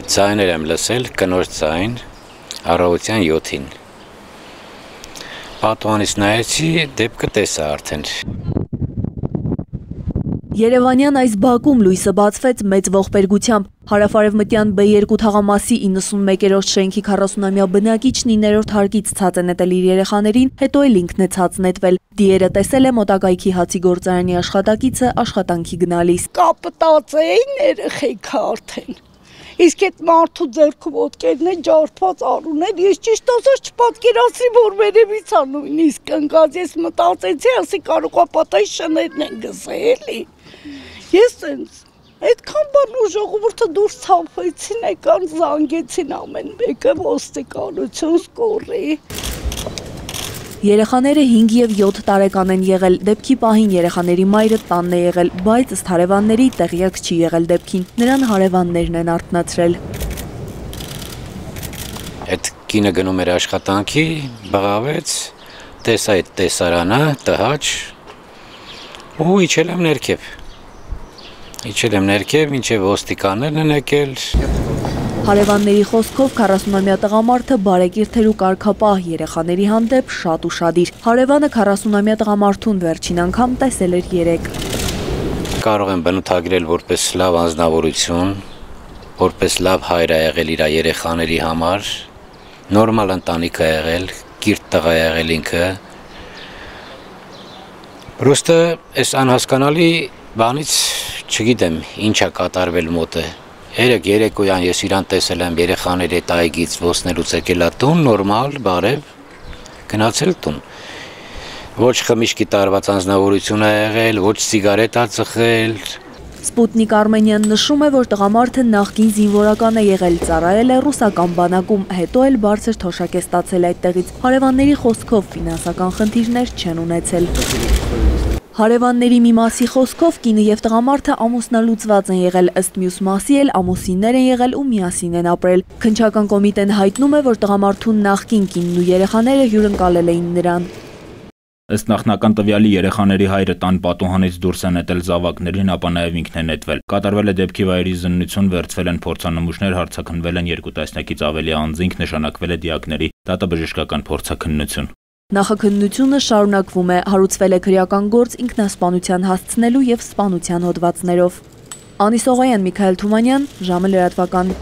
Ձայներ եմ լսել, կնոջ ձայն, առավոտյան 7-ին։ Պատուհանից նայեցի, դեպքը տեսա արդեն։ Երևանյան այս բակում լույսը բացվեց մեծ ողբերգությամբ։ Հարավարևմտյան B2 թաղամասի 91-րդ շենքի 40-ամյա բնակիչն 9-րդ հարկից ցած է նետել իր երեխաներին, հետո էլ ինքն է ցած նետվել։ Դիերը տեսել է մոտակայքի հացի գործարանի աշխատակիցը աշխատանքի գնալիս։ Կապտած էին երեխեքը արդեն։ Իսկ այդ մարդու ձեռքում ոտքերն են ջարդված արուներ, ես ճիշտ ասած չպատկերացրի, որ վերևից ա նույնիսկ ընկած, ես մտածեցի, ասի կարող է պատահի շներն են գցել, էլի։ Ես այդքան բան ու ժողովուրդը դուրս ցավեցին, եկան զանգեցին ամեն մեկը, ոստիկանություն, սկորի։ Երեխաները 5 և 7 տարեկան են եղել, դեպքի պահին երեխաների մայրը տանն է եղել, բայց ըստ հարևանների տեղյակ չի եղել դեպքին, նրան հարևաններն են արթնացրել։ Այդ կինը գնում էր աշխատանքի, բղավեց, տեսա այդ տեսարանը, տհաճ, ու իջել եմ ներքև, մինչև ոստիկաններն են եկել։ Հարևանների խոսքով 40-ամյա տղամարդը բարեկիրթեր ու կարգապահ, երեխաների հանդեպ շատ ուշադիր։ Հարևանը 40-ամյա տղամարդուն վերջին անգամ տեսել էր երեկ։ Կարող եմ բնութագրել որպես լավ անձնավորություն, որպես լավ հայր ա եղել իր երեխաների համար, նորմալ ընտանիք ա եղել, կիրթ տղա ա եղել ինքը։ Պրոստը այս անհասկանալի բանից չգիտեմ ինչ ա կատարվել մոտը։ Երեկոյան ես իրան տեսել եմ երեխաների հետ այգից ոսնելուց եկել ա տուն, նորմալ, բարև, գնացել տուն։ Ոչ խմիչքի տարված անձնավորություն ա եղել, ոչ սիգարետ ա ծխել։ Սպուտնիկ Արմենյան նշում է, որ տղամարդը նախկին զինվորական է եղել, ծառայել է ռուսական բանակում, հետո էլ բարձր թոշակ է ստացել այդտեղից։ Հարևանների խոսքով ֆինանսական խնդիրներ չեն ունեցել։ Հարևանների մի մասի խոսքով կինը և տղամարդը ամուսնալուծված են եղել, ըստ մյուս մասի էլ ամուսիններ են եղել ու միասին են ապրել։ Քննչական կոմիտեն հայտնում է, որ տղամարդուն նախկին կինն ու երեխաները հյուրընկալել էին նրան։ Ըստ նախնական տվյալի երեխաների հայրը տան պատուհանից դուրս է նետել զավակներին, ապա նաև ինքն է նետվել։ Կատարվել է դեպքի վայրի զննություն, վերցվել են փորձանմուշներ, հարցաքննվել են 2 տասնյակից ավելի անձինք, նշանակվել է դիակների դատաբժշկական փորձաքննություն։ Նախաքննությունը շարունակվում է, հարուցվել է քրեական գործ ինքնասպանության հասցնելու և սպանության հոդվածներով։ Անի Սողոյան, Միքայել Թումանյան, ժամը լրատվական։